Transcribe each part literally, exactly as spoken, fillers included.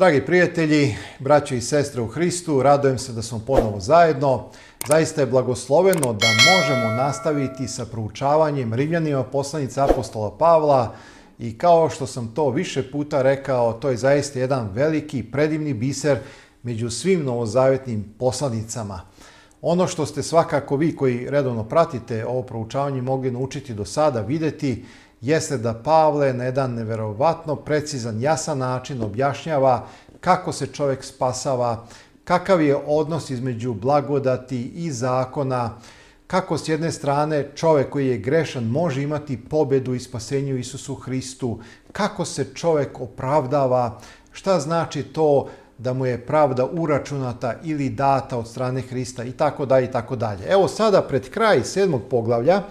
Dragi prijatelji, braće i sestre u Hristu, radujem se da smo ponovo zajedno. Zaista je blagosloveno da možemo nastaviti sa proučavanjem Rimljanima poslanice apostola Pavla i kao što sam to više puta rekao, to je zaista jedan veliki, predivni biser među svim novozavetnim poslanicama. Ono što ste svakako vi koji redovno pratite ovo proučavanje mogli naučiti do sada videti jeste da Pavle na jedan neverovatno precizan, jasan način objašnjava kako se čovjek spasava, kakav je odnos između blagodati i zakona, kako s jedne strane čovjek koji je grešan može imati pobedu i spasenje u Isusu Hristu, kako se čovjek opravdava, šta znači to da mu je pravda uračunata ili data od strane Hrista i tako dalje i tako dalje. Evo sada pred kraj sedmog poglavlja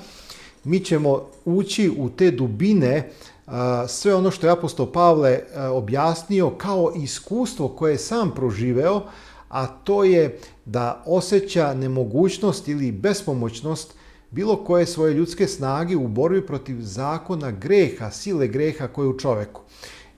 mi ćemo ući u te dubine, sve ono što je apostol Pavle objasnio kao iskustvo koje je sam proživeo, a to je da osjeća nemogućnost ili bespomoćnost bilo koje svoje ljudske snage u borbi protiv zakona greha, sile greha koje je u čoveku.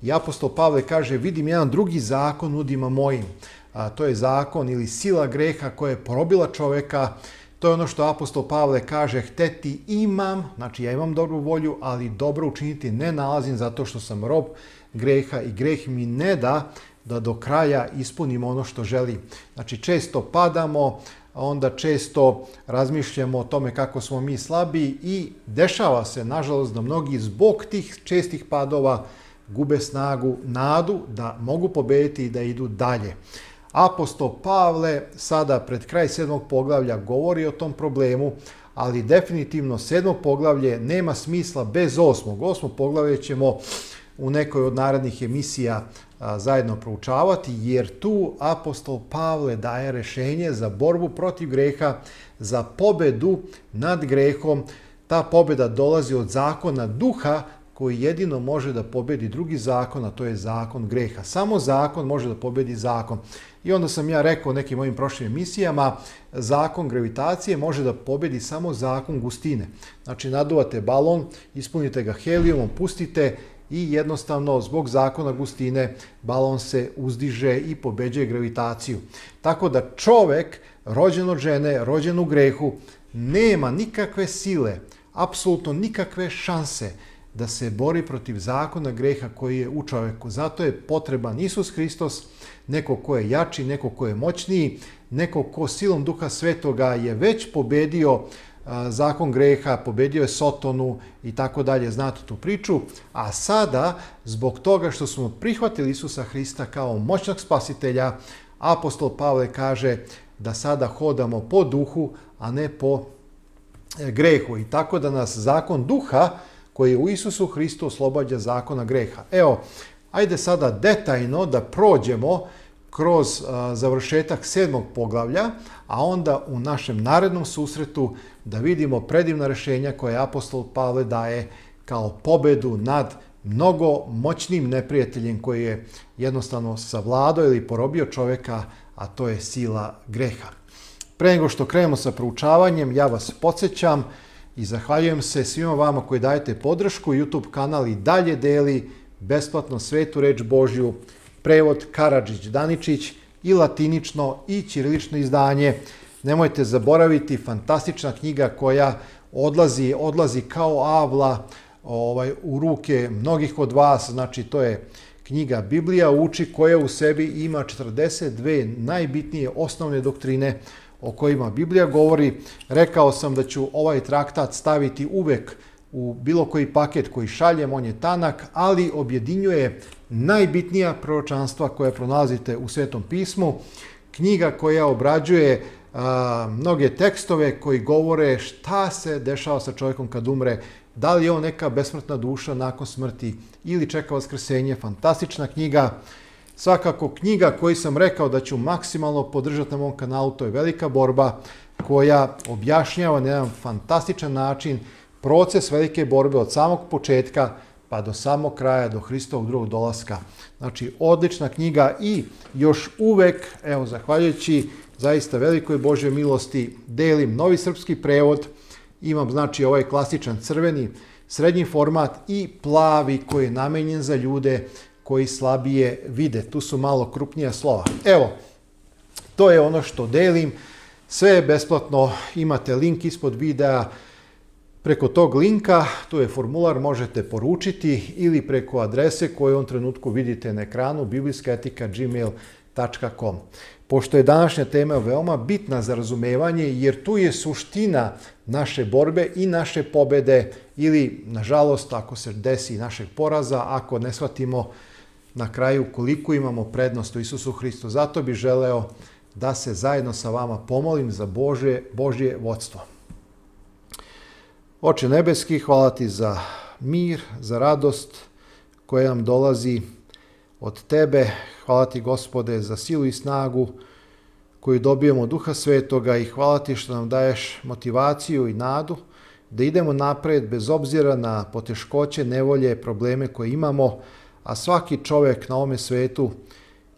I apostol Pavle kaže, vidim jedan drugi zakon udima mojim. A, to je zakon ili sila greha koja je porobila čoveka. To je ono što apostol Pavle kaže, hteti imam, znači ja imam dobru volju, ali dobro učiniti ne nalazim zato što sam rob greha i greh mi ne da da do kraja ispunimo ono što želim. Znači često padamo, onda često razmišljamo o tome kako smo mi slabi i dešava se, nažalost, da mnogi zbog tih čestih padova gube snagu, nadu da mogu pobediti i da idu dalje. Apostol Pavle sada pred kraj sedmog poglavlja govori o tom problemu, ali definitivno sedmo poglavlje nema smisla bez osmog. Osmo poglavlje ćemo u nekoj od narednih emisija a, zajedno proučavati, jer tu apostol Pavle daje rešenje za borbu protiv greha, za pobedu nad grehom. Ta pobeda dolazi od zakona duha koji jedino može da pobedi drugi zakon, a to je zakon greha. Samo zakon može da pobedi zakon. I onda sam ja rekao u nekim mojim prošlim emisijama, zakon gravitacije može da pobedi samo zakon gustine. Znači naduvate balon, ispunite ga helijumom, pustite i jednostavno zbog zakona gustine balon se uzdiže i pobeđuje gravitaciju. Tako da čovek, rođen od žene, rođen u grehu, nema nikakve sile, apsolutno nikakve šanse da se bori protiv zakona greha koji je u čoveku. Zato je potreban Isus Hristos, neko ko je jači, neko ko je moćniji, neko ko silom Duha Svetoga je već pobedio a, zakon greha, pobedio je Sotonu i tako dalje, znate tu priču. A sada, zbog toga što smo prihvatili Isusa Hrista kao moćnog spasitelja, apostol Pavle kaže da sada hodamo po duhu, a ne po grehu. I tako da nas zakon duha koji je u Isusu Hristu oslobađa zakona greha. Evo, ajde sada detaljno da prođemo kroz a, završetak sedmog poglavlja, a onda u našem narednom susretu da vidimo predivna rešenja koje apostol Pavle daje kao pobedu nad mnogo moćnim neprijateljem koji je jednostavno savladao ili porobio čovjeka, a to je sila greha. Pre nego što krenemo sa proučavanjem, ja vas podsjećam i zahvaljujem se svima vama koji dajete podršku. YouTube kanal i dalje deli besplatno svetu reč Božju, prevod Karadžić Daničić i latinično i ćirilično izdanje. Nemojte zaboraviti, fantastična knjiga koja odlazi, odlazi kao avla ovaj, u ruke mnogih od vas. Znači to je knjiga Biblija uči koja u sebi ima četrdeset dve najbitnije osnovne doktrine o kojima Biblija govori. Rekao sam da ću ovaj traktat staviti uvek u bilo koji paket koji šaljem, on je tanak, ali objedinjuje najbitnija proročanstva koje pronalazite u Svetom pismu. Knjiga koja obrađuje a, mnoge tekstove koji govore šta se dešava sa čovjekom kad umre, da li je on neka besmrtna duša nakon smrti ili čeka vaskrsenje. Fantastična knjiga. Svakako knjiga koju sam rekao da ću maksimalno podržati na mom kanalu, to je Velika borba, koja objašnjava na jedan fantastičan način proces velike borbe od samog početka pa do samog kraja, do Hristovog drugog dolaska. Znači, odlična knjiga i još uvek, evo, zahvaljujući zaista velikoj Božjoj milosti, delim novi srpski prevod. Imam, znači, ovaj klasičan crveni, srednji format i plavi koji je namenjen za ljude koji slabije vide. Tu su malo krupnija slova. Evo, to je ono što delim. Sve je besplatno, imate link ispod videa. Preko tog linka, tu je formular, možete poručiti ili preko adrese koju u ovom trenutku vidite na ekranu biblijska etika at gmail tačka com. Pošto je današnja tema veoma bitna za razumevanje, jer tu je suština naše borbe i naše pobede ili, nažalost, ako se desi našeg poraza, ako ne shvatimo na kraju koliko imamo prednost u Isusu Hristu. Zato bih želeo da se zajedno sa vama pomolim za Božje, Božje vodstvo. Oče nebeski, hvala ti za mir, za radost koja nam dolazi od tebe. Hvala ti, Gospode, za silu i snagu koju dobijemo od Duha Svetoga i hvala ti što nam daješ motivaciju i nadu da idemo napred bez obzira na poteškoće, nevolje, probleme koje imamo, a svaki čovjek na ovome svetu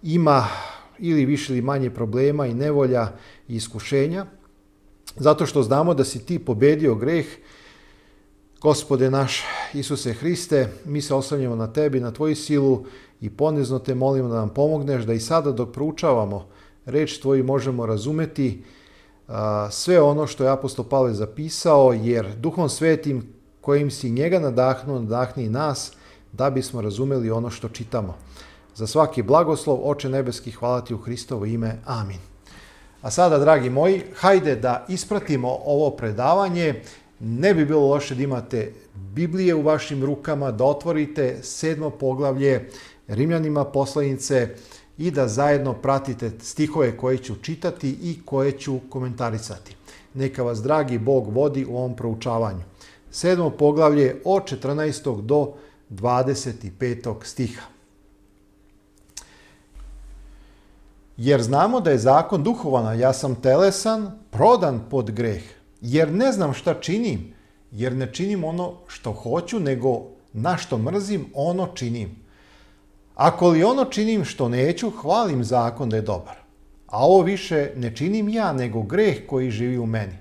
ima ili više ili manje problema i nevolja i iskušenja, zato što znamo da si ti pobedio greh. Gospode naš Isuse Hriste, mi se oslanjamo na tebi, na tvoju silu i ponizno te molimo da nam pomogneš da i sada dok proučavamo reč tvoju možemo razumeti a, sve ono što je apostol Pavle zapisao, jer Duhom Svetim kojim si njega nadahnuo, nadahni i nas da bismo razumeli ono što čitamo. Za svaki blagoslov, Oče nebeski, hvala ti u Hristovo ime. Amin. A sada, dragi moji, hajde da ispratimo ovo predavanje. Ne bi bilo loše da imate Biblije u vašim rukama, da otvorite sedmo poglavlje Rimljanima poslanice i da zajedno pratite stihove koje ću čitati i koje ću komentarisati. Neka vas dragi Bog vodi u ovom proučavanju. Sedmo poglavlje od četrnaestog do dvadeset petog stiha. Jer znamo da je zakon duhovan, a ja sam telesan, prodan pod greh. Jer ne znam šta činim, jer ne činim ono što hoću, nego na što mrzim, ono činim. Ako li ono činim što neću, hvalim zakon da je dobar. A ovo više ne činim ja, nego greh koji živi u meni.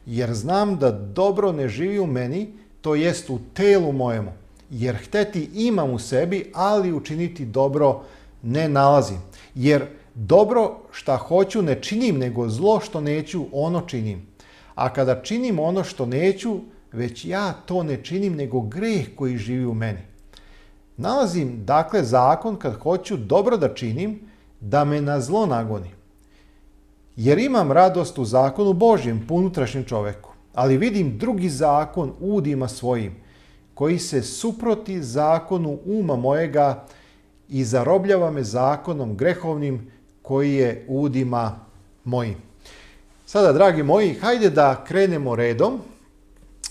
Jer znam da dobro ne živi u meni, to jest u telu mojemu. Jer hteti imam u sebi, ali učiniti dobro ne nalazim. Jer dobro šta hoću ne činim, nego zlo što neću, ono činim. A kada činim ono što neću, već ja to ne činim, nego greh koji živi u meni. Nalazim, dakle, zakon kad hoću dobro da činim, da me na zlo nagoni. Jer imam radost u zakonu Božjem, po unutrašnjem čoveku. Ali vidim drugi zakon u udima svojim, koji se suproti zakonu uma mojega i zarobljava me zakonom grehovnim koji je u udima mojim. Sada, dragi moji, hajde da krenemo redom.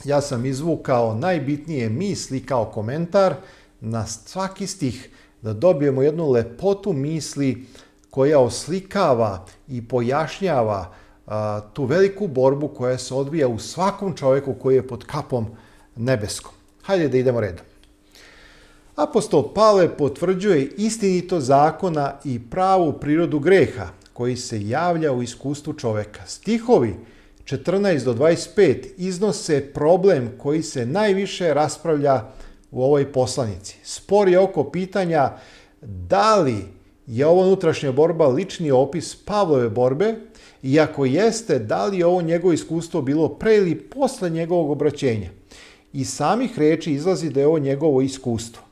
Ja sam izvukao najbitnije misli kao komentar na svaki stih, da dobijemo jednu lepotu misli koja oslikava i pojašnjava a, tu veliku borbu koja se odvija u svakom čovjeku koji je pod kapom nebeskom. Hajde da idemo redom. Apostol Pavle potvrđuje istinito zakona i pravu prirodu greha koji se javlja u iskustvu čovjeka. Stihovi četrnaest do dvadeset pet iznose problem koji se najviše raspravlja u ovoj poslanici. Spor je oko pitanja da li je ovo unutrašnja borba lični opis Pavlove borbe i ako jeste, da li je ovo njegovo iskustvo bilo pre ili posle njegovog obraćenja. Iz samih reči izlazi da je ovo njegovo iskustvo.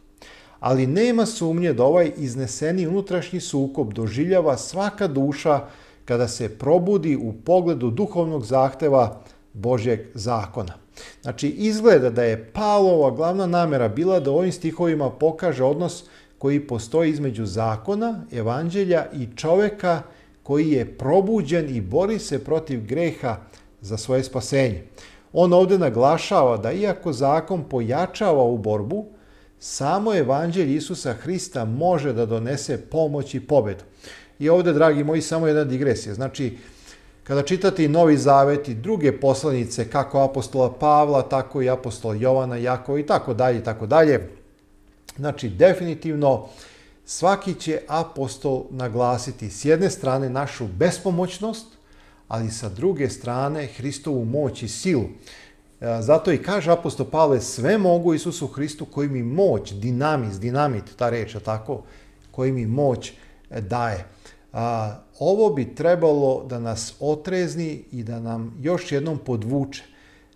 Ali nema sumnje da ovaj izneseni unutrašnji sukob doživljava svaka duša kada se probudi u pogledu duhovnog zahteva Božjeg zakona. Znači, izgleda da je Pavlova glavna namera bila da ovim stihovima pokaže odnos koji postoji između zakona, evanđelja i čoveka koji je probuđen i bori se protiv greha za svoje spasenje. On ovdje naglašava da iako zakon pojačava ovu borbu, samo evanđelje Isusa Hrista može da donese pomoć i pobedu. I ovdje, dragi moji, samo jedna digresija. Znači, kada čitate i Novi Zavet i druge poslanice, kako apostola Pavla, tako i apostola Jovana, Jakova i tako dalje i tako dalje, znači, definitivno svaki će apostol naglasiti s jedne strane našu bespomoćnost, ali sa druge strane Hristovu moć i silu. Zato i kaže apostol Pavle, sve mogu Isusu Hristu koji mi moć, dinamis, dinamit, ta reč, tako, koji mi moć daje. A, ovo bi trebalo da nas otrezni i da nam još jednom podvuče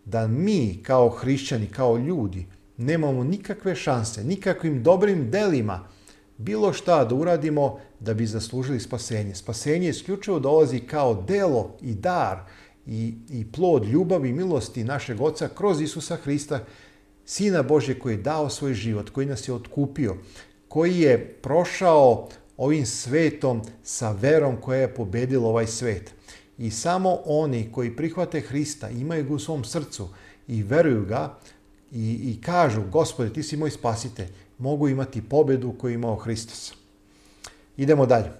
da mi kao hrišćani, kao ljudi, nemamo nikakve šanse, nikakvim dobrim delima, bilo šta da uradimo da bi zaslužili spasenje. Spasenje isključivo dolazi kao delo i dar i, i plod ljubavi i milosti našeg Oca kroz Isusa Hrista, Sina Božje koji je dao svoj život, koji nas je otkupio, koji je prošao ovim svetom sa verom koja je pobedila ovaj svet. I samo oni koji prihvate Hrista, imaju ga u svom srcu i veruju ga i, i kažu, Gospode, ti si moj spasitelj, mogu imati pobedu koju je imao Hristos. Idemo dalje.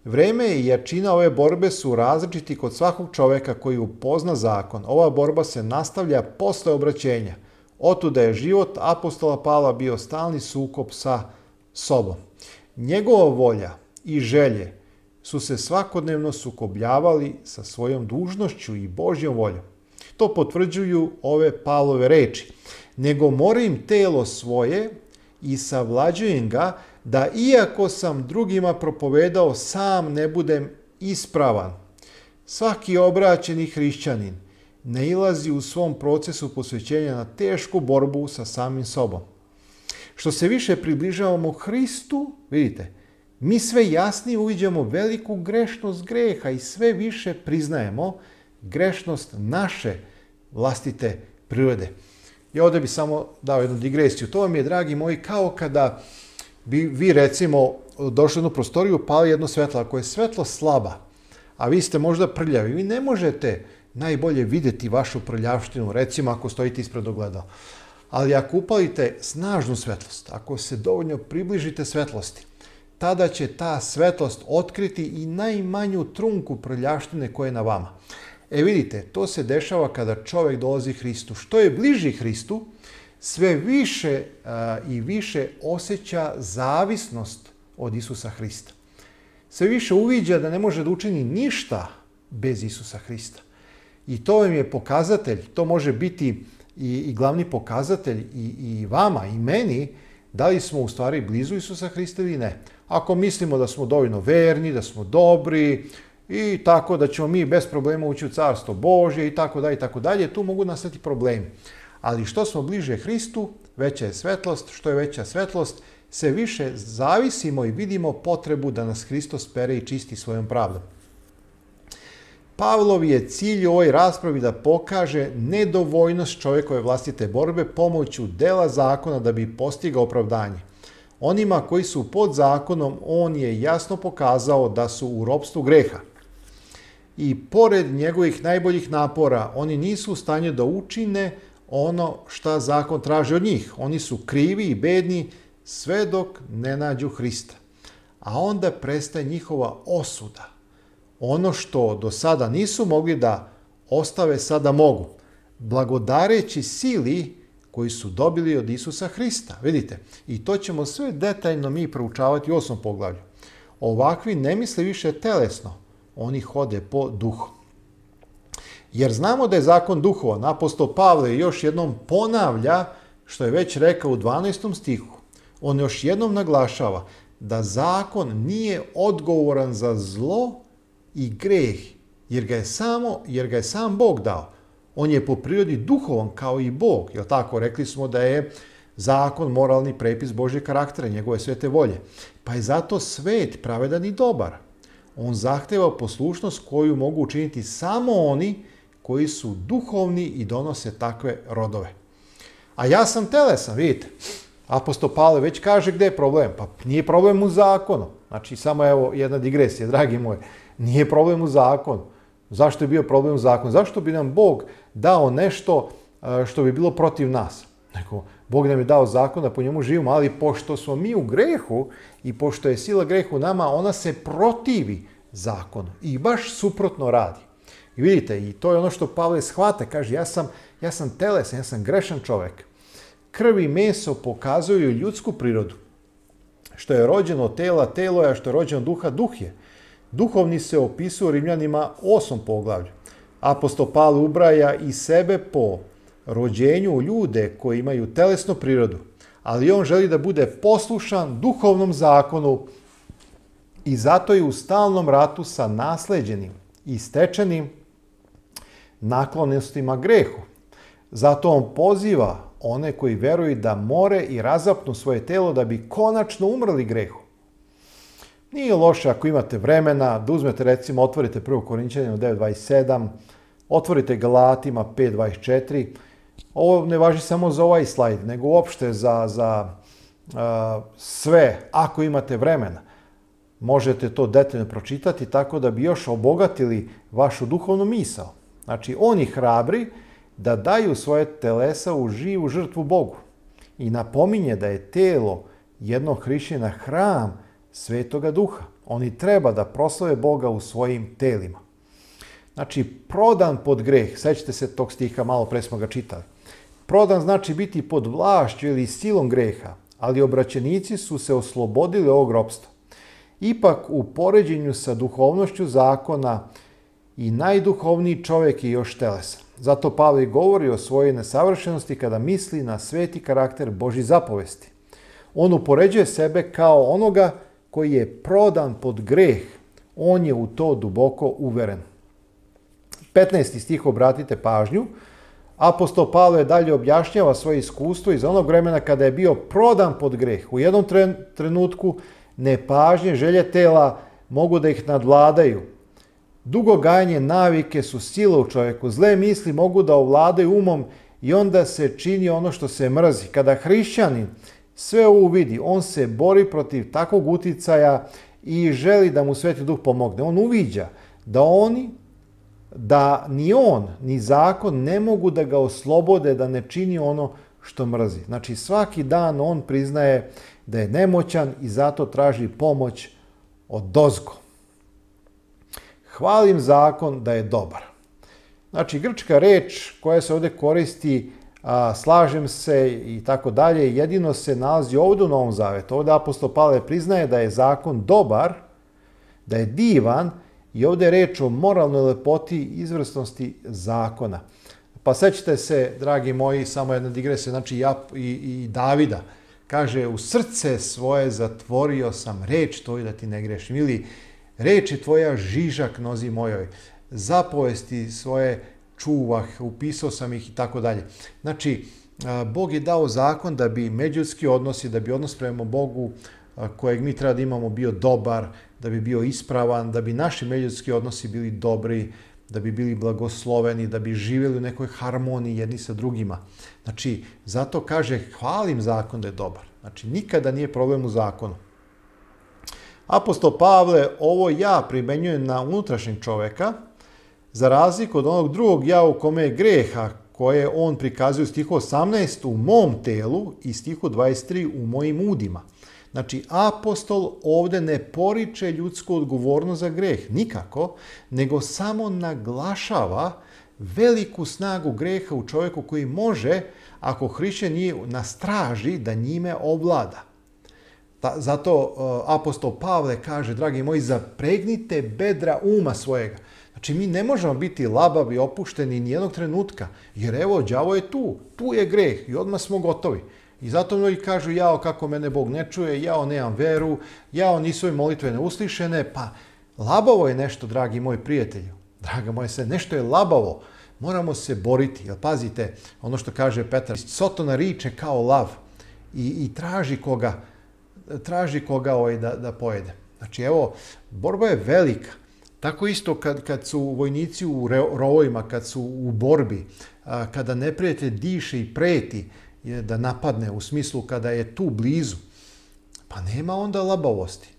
Vreme i jačina ove borbe su različiti kod svakog čoveka koji upozna zakon. Ova borba se nastavlja posle obraćenja. Otuda je život apostola Pavla bio stalni sukob sa sobom. Njegova volja i želje su se svakodnevno sukobljavali sa svojom dužnošću i Božjom voljom. To potvrđuju ove Pavlove reči. Nego morim telo svoje i savlađujem ga da iako sam drugima propovedao, sam ne budem ispravan. Svaki obraćeni hrišćanin nailazi u svom procesu posvećenja na tešku borbu sa samim sobom. Što se više približavamo Hristu, vidite, mi sve jasnije uviđamo veliku grešnost greha i sve više priznajemo grešnost naše vlastite prirode. I ovdje bih samo dao jednu digresiju. To vam je, dragi moji, kao kada bi vi, recimo, došli u jednu prostoriju, pali jedno svetlo. Ako je svetlo slaba, a vi ste možda prljavi, vi ne možete najbolje vidjeti vašu prljavštinu, recimo ako stojite ispred ogledala. Ali ako upalite snažnu svetlost, ako se dovoljno približite svetlosti, tada će ta svetlost otkriti i najmanju trunku prljavštine koja je na vama. E vidite, to se dešava kada čovjek dolazi Hristu. Što je bliži Hristu, sve više a, i više osjeća zavisnost od Isusa Hrista. Sve više uviđa da ne može da učini ništa bez Isusa Hrista. I to vam je pokazatelj, to može biti i, i glavni pokazatelj i, i vama i meni, da li smo u stvari blizu Isusa Hrista ili ne. Ako mislimo da smo dovoljno verni, da smo dobri i tako da ćemo mi bez problema ući u Carstvo Božje i tako dalje i tako dalje, tu mogu nastati problemi. Ali što smo bliže Hristu, veća je svetlost, što je veća svetlost, sve više zavisimo i vidimo potrebu da nas Hristos pere i čisti svojom pravdom. Pavlov je cilj u ovoj raspravi da pokaže nedovoljnost čovjekove vlastite borbe pomoću dela zakona da bi postigao opravdanje. Onima koji su pod zakonom, on je jasno pokazao da su u ropstvu greha. I pored njegovih najboljih napora, oni nisu u stanju da učine ono šta zakon traži od njih. Oni su krivi i bedni sve dok ne nađu Hrista. A onda prestaje njihova osuda. Ono što do sada nisu mogli da ostave, sada mogu. Blagodareći sili koji su dobili od Isusa Hrista. Vidite, i to ćemo sve detaljno mi proučavati u osmom poglavlju. Ovakvi ne misle više telesno, oni hode po duhu. Jer znamo da je zakon duhovan. Apostol Pavle još jednom ponavlja što je već rekao u dvanaestom stihu. On još jednom naglašava da zakon nije odgovoran za zlo i greh, jer ga je samo, jer ga je sam Bog dao. On je po prirodi duhovan kao i Bog, jel tako? Rekli smo da je zakon moralni prepis Božjeg karaktera, njegove svete volje. Pa je zato svet pravedan i dobar. On zahteva poslušnost koju mogu učiniti samo oni koji su duhovni i donose takve rodove. A ja sam telesan, vidite. Apostol Pavle već kaže gdje je problem. Pa nije problem u zakonu. Znači, samo evo jedna digresija, dragi moji. Nije problem u zakonu. Zašto je bio problem u zakonu? Zašto bi nam Bog dao nešto što bi bilo protiv nas? Neko, Bog nam je dao zakon da po njemu živimo, ali pošto smo mi u grehu i pošto je sila grehu u nama, ona se protivi zakonu i baš suprotno radi. I vidite, i to je ono što Pavle shvata, kaže, ja sam, ja sam telesan, ja sam grešan čovjek. Krv i meso pokazuju ljudsku prirodu. Što je rođeno od tela, telo je, a što je rođeno od duha, duh je. Duhovni se opisuje u Rimljanima osmom poglavlju. Apostol Pavle ubraja i sebe po rođenju u ljude koji imaju telesnu prirodu, ali on želi da bude poslušan duhovnom zakonu i zato je u stalnom ratu sa nasleđenim i stečenim naklonostima grehu. Zato on poziva one koji veruju da more i razapnu svoje telo da bi konačno umrli grehu. Nije loše ako imate vremena da uzmete, recimo, otvorite prvo Korinćanima devet dvadeset sedam, otvorite Galatima pet dvadeset četiri. Ovo ne važi samo za ovaj slajd, nego uopšte za, za uh, sve, ako imate vremena. Možete to detaljno pročitati tako da bi još obogatili vašu duhovnu misao. Znači, oni hrabri da daju svoje telesa u živu žrtvu Bogu. I napominje da je telo jednog hrišćana hram Svetoga Duha. Oni treba da proslave Boga u svojim telima. Znači, prodan pod greh, sećate se tog stiha, malo pre smo ga čitali. Prodan znači biti pod vlašću ili silom greha, ali obraćenici su se oslobodili ovog ropstva. Ipak, u poređenju sa duhovnošću zakona, i najduhovniji čovjek je još telesan. Zato Pavle govori o svojoj nesavršenosti kada misli na sveti karakter Božjih zapovesti. On upoređuje sebe kao onoga koji je prodan pod greh. On je u to duboko uveren. petnaesti stih, obratite pažnju. Apostol Pavle dalje objašnjava svoje iskustvo iz onog vremena kada je bio prodan pod greh. U jednom trenutku nepažnje, želje tela mogu da ih nadvladaju. Dugo gajanje navike su sila u čovjeku. Zle misli mogu da ovladaju umom i onda se čini ono što se mrzi. Kada hrišćanin sve ovo vidi, on se bori protiv takvog uticaja i želi da mu Sveti Duh pomogne. On uviđa da oni, da ni on, ni zakon ne mogu da ga oslobode da ne čini ono što mrzi. Znači, svaki dan on priznaje da je nemoćan i zato traži pomoć odozgo. Hvalim zakon da je dobar. Znači, grčka reč koja se ovdje koristi, a, slažem se i tako dalje, jedino se nalazi ovdje u Novom Zavetu. Ovdje apostol Pavle priznaje da je zakon dobar, da je divan i ovdje je reč o moralnoj lepoti i izvrsnosti zakona. Pa sećate se, dragi moji, samo jedna digresija, znači ja i, i Davida. Kaže, u srce svoje zatvorio sam reč tvoju da ti ne grešim. Ili reč je tvoja žižak nozi mojoj. Zapovesti svoje čuvah, upisao sam ih i tako dalje. Znači, Bog je dao zakon da bi međuljudski odnosi, da bi odnos prema Bogu kojeg mi treba da imamo bio dobar, da bi bio ispravan, da bi naši međuljudski odnosi bili dobri, da bi bili blagosloveni, da bi živjeli u nekoj harmoniji jedni sa drugima. Znači, zato kaže, hvalim zakon da je dobar. Znači, nikada nije problem u zakonu. Apostol Pavle ovo ja primenjuje na unutrašnjeg čoveka, za razliku od onog drugog ja u kome je greha, koje on prikazuje u stihu osamnaest u mom telu i stihu dvadeset tri u mojim udima. Znači, apostol ovdje ne poriče ljudsku odgovornost za greh, nikako, nego samo naglašava veliku snagu greha u čovjeku koji može, ako hrišćan nije na straži, da njime ovlada. Zato apostol Pavle kaže, dragi moji, zapregnite bedra uma svojega. Znači, mi ne možemo biti labavi, opušteni nijednog trenutka, jer evo, đavo je tu, tu je greh i odmah smo gotovi. I zato mnogi kažu, jao, kako mene Bog ne čuje, jao, nemam veru, jao, nisu mi molitve neuslišene, pa labavo je nešto, dragi moji prijatelji, draga moje sve, nešto je labavo, moramo se boriti, jer pazite, ono što kaže Petar, Sotona riče kao lav i, i traži koga, traži koga ovaj da, da pojede. Znači, evo, borba je velika. Tako isto kad, kad su vojnici u rovovima, kad su u borbi, kada neprijatelj diše i preti da napadne, u smislu kada je tu blizu, pa nema onda labavosti.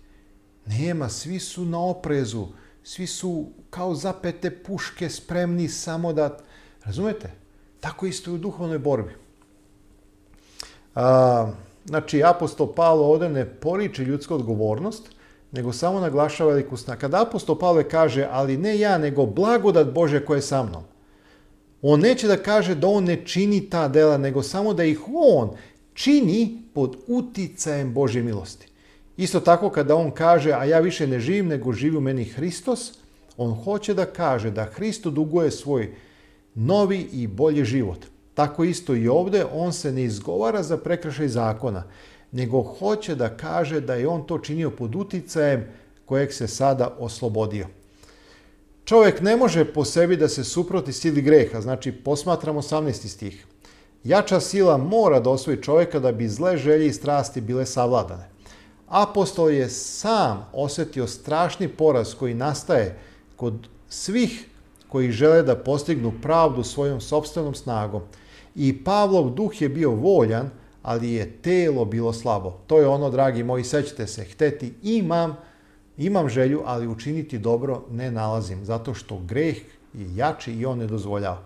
Nema, svi su na oprezu, svi su kao zapete puške spremni samo da... Razumete? Tako isto i u duhovnoj borbi. A, znači, apostol Pavle ovdje ne poriče ljudsku odgovornost, nego samo naglašava veliku snagu. Kada apostol Pavle kaže, ali ne ja, nego blagodat Bože koja je sa mnom, on neće da kaže da on ne čini ta dela, nego samo da ih on čini pod uticajem Božje milosti. Isto tako kada on kaže, a ja više ne živim, nego živi u meni Hristos, on hoće da kaže da Hristo duguje svoj novi i bolji život. Tako isto i ovdje, on se ne izgovara za prekršaj zakona, nego hoće da kaže da je on to činio pod uticajem kojeg se sada oslobodio. Čovjek ne može po sebi da se suproti sili greha, znači posmatramo osamnaesti stih. Jača sila mora da osvoji čovjeka da bi zle želje i strasti bile savladane. Apostol je sam osjetio strašni poraz koji nastaje kod svih koji žele da postignu pravdu svojom sopstvenom snagom. I Pavlov duh je bio voljan, ali je telo bilo slabo. To je ono, dragi moji, sećate se, hteti imam, imam želju, ali učiniti dobro ne nalazim, zato što greh je jači i on ne dozvoljava.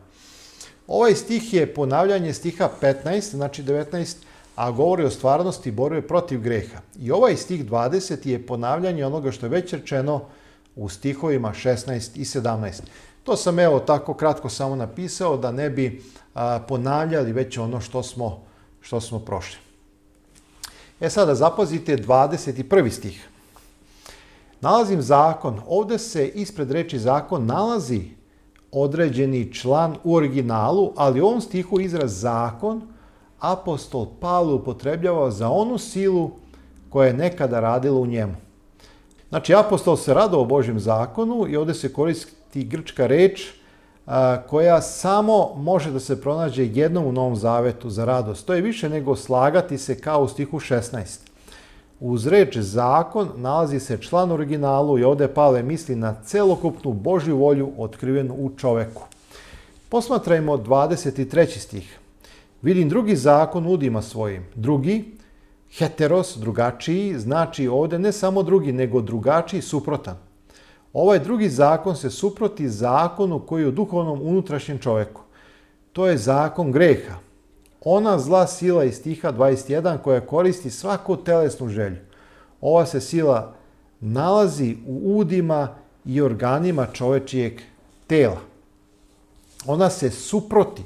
Ovaj stih je ponavljanje stiha petnaest, znači devetnaest, a govori o stvarnosti borbe protiv greha. I ovaj stih dvadeset je ponavljanje onoga što je već rečeno u stihovima šesnaest i sedamnaest. To sam evo tako kratko samo napisao da ne bi a, ponavljali već ono što smo, što smo prošli. E sada zapazite dvadeset prvi stih. Nalazim zakon. Ovdje se ispred reči zakon nalazi određeni član u originalu, ali u ovom stihu izraz zakon apostol Pavle upotrebljava za onu silu koja je nekada radila u njemu. Znači, apostol se radovao Božjem zakonu i ovdje se koristi grčka reč a, koja samo može da se pronađe jednom u Novom Zavetu za radost. To je više nego slagati se kao u stihu šesnaest. Uz reč zakon nalazi se član u originalu i ovdje Pavle misli na celokupnu Božju volju otkrivenu u čoveku. Posmatrajmo dvadeset treći stih. Vidim drugi zakon u udima svojim. Drugi, heteros, drugačiji, znači ovdje ne samo drugi, nego drugačiji, suprotan. Ovaj drugi zakon se suproti zakonu koji je u duhovnom unutrašnjem čoveku. To je zakon greha. Ona zla sila iz stiha dvadeset jedan koja koristi svaku telesnu želju. Ova se sila nalazi u udima i organima čovečijeg tela. Ona se suproti.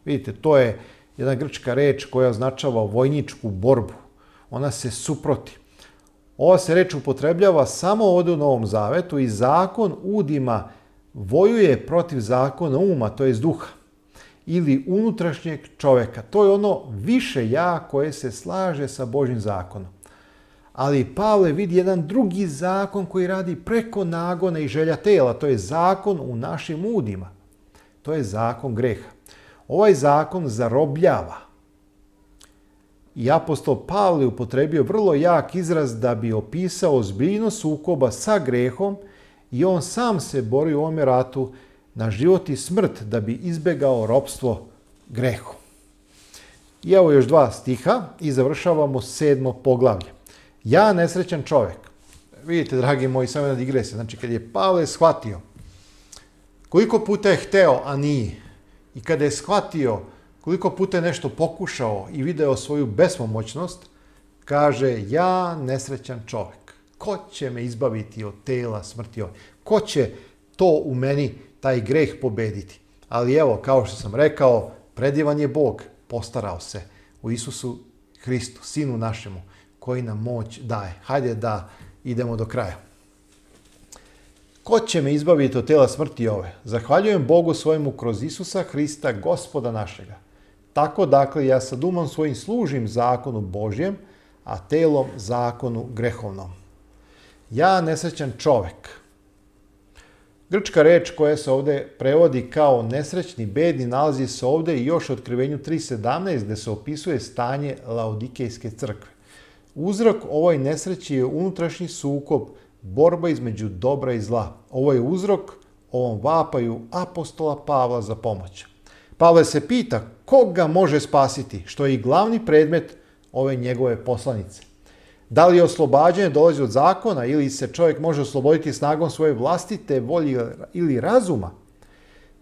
Vidite, to je jedna grčka reč koja označava vojničku borbu. Ona se suproti. Ova se reč upotrebljava samo ovdje u Novom Zavetu i zakon udima vojuje protiv zakona uma, to je duha, ili unutrašnjeg čovjeka. To je ono više ja koje se slaže sa Božjim zakonom. Ali Pavle vidi jedan drugi zakon koji radi preko nagona i želja tela. To je zakon u našim udima. To je zakon greha. Ovaj zakon zarobljava. I apostol Pavle upotrebio vrlo jak izraz da bi opisao ozbiljnost sukoba sa grehom i on sam se bori u ovome ratu na život i smrt da bi izbegao ropstvo grehu. I evo još dva stiha i završavamo sedmo poglavlje. Ja nesrećan čovjek. Vidite, dragi moji, samo jedna digresija. Znači, kad je Pavle shvatio koliko puta je hteo, a nije, i kada je shvatio koliko puta je nešto pokušao i video svoju bespomoćnost, kaže, ja nesrećan čovjek. Ko će me izbaviti od tela smrti ove? Ko će to u meni, taj greh, pobediti? Ali evo, kao što sam rekao, predivan je Bog, postarao se u Isusu Hristu, Sinu našemu, koji nam moć daje. Hajde da idemo do kraja. Ko će me izbaviti od tela smrti ove? Zahvaljujem Bogu svojemu kroz Isusa Hrista, Gospoda našega. Tako, dakle, ja sad umom svojim služim zakonu Božjem, a telom zakonu grehovnom. Ja nesrećan čovek. Grčka reč koja se ovdje prevodi kao nesrećni, bedni, nalazi se ovdje i još u Otkrivenju tri sedamnaest gdje se opisuje stanje Laodikejske crkve. Uzrok ovoj nesreći je unutrašnji sukob, borba između dobra i zla. Ovo je uzrok ovom vapaju apostola Pavla za pomoć. Pavle se pita koga može spasiti, što je i glavni predmet ove njegove poslanice. Da li oslobađanje dolazi od zakona ili se čovjek može osloboditi snagom svoje vlastite volje ili razuma?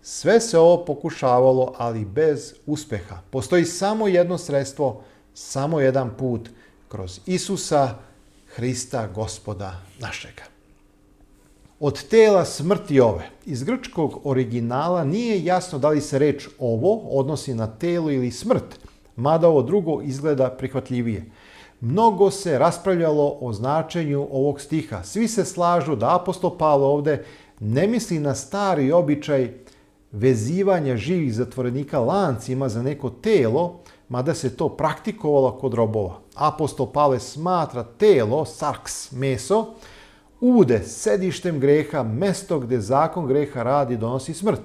Sve se ovo pokušavalo, ali bez uspeha. Postoji samo jedno sredstvo, samo jedan put, kroz Isusa Hrista, Gospoda našega. Od tela smrti ove, iz grčkog originala nije jasno da li se reč ovo odnosi na telo ili smrt, mada ovo drugo izgleda prihvatljivije. Mnogo se raspravljalo o značenju ovog stiha. Svi se slažu da apostol Pavle ovdje ne misli na stari običaj vezivanja živih zatvorenika lancima za neko telo, mada se to praktikovalo kod robova. Apostol Pavle smatra telo, sarks, meso, ude, sedištem greha, mesto gdje zakon greha radi donosi smrt.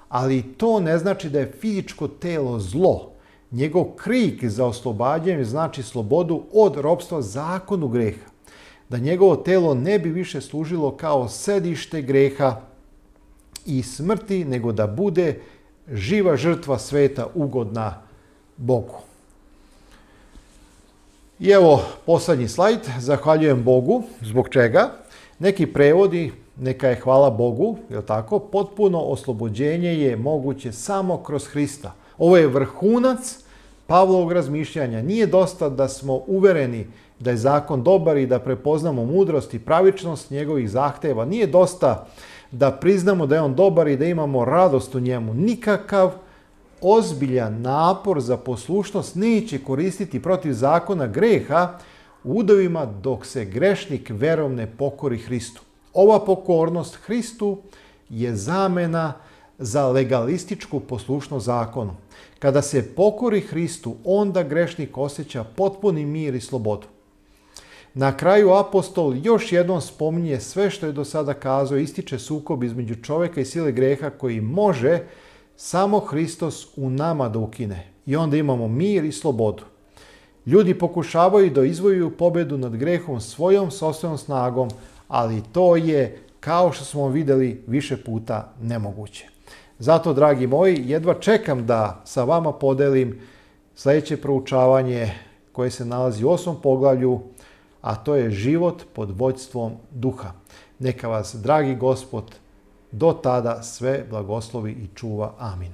Ali to ne znači da je fizičko telo zlo. Njegov krik za oslobađanje znači slobodu od ropstva zakonu greha. Da njegovo telo ne bi više služilo kao sedište greha i smrti, nego da bude živa žrtva sveta ugodna Bogu. I evo posljednji slajd. Zahvaljujem Bogu. Zbog čega? Neki prevodi, neka je hvala Bogu, je tako? Potpuno oslobođenje je moguće samo kroz Hrista. Ovo je vrhunac Pavlovog razmišljanja. Nije dosta da smo uvereni da je zakon dobar i da prepoznamo mudrost i pravičnost njegovih zahteva. Nije dosta da priznamo da je on dobar i da imamo radost u njemu. Nikakav ozbiljan napor za poslušnost neće koristiti protiv zakona greha u udovima dok se grešnik verom ne pokori Hristu. Ova pokornost Hristu je zamena za legalističku poslušnost zakonu. Kada se pokori Hristu, onda grešnik osjeća potpuni mir i slobodu. Na kraju apostol još jednom spominje sve što je do sada kazao, ističe sukob između čovjeka i sile greha koji može samo Hristos u nama da ukine. I onda imamo mir i slobodu. Ljudi pokušavaju da izvojuju pobjedu nad grehom svojom sopstvenom snagom, ali to je, kao što smo vidjeli, više puta nemoguće. Zato, dragi moji, jedva čekam da sa vama podelim sljedeće proučavanje koje se nalazi u osmom poglavlju, a to je život pod vođstvom duha. Neka vas, dragi Gospod, do tada sve blagoslovi i čuva. Amin.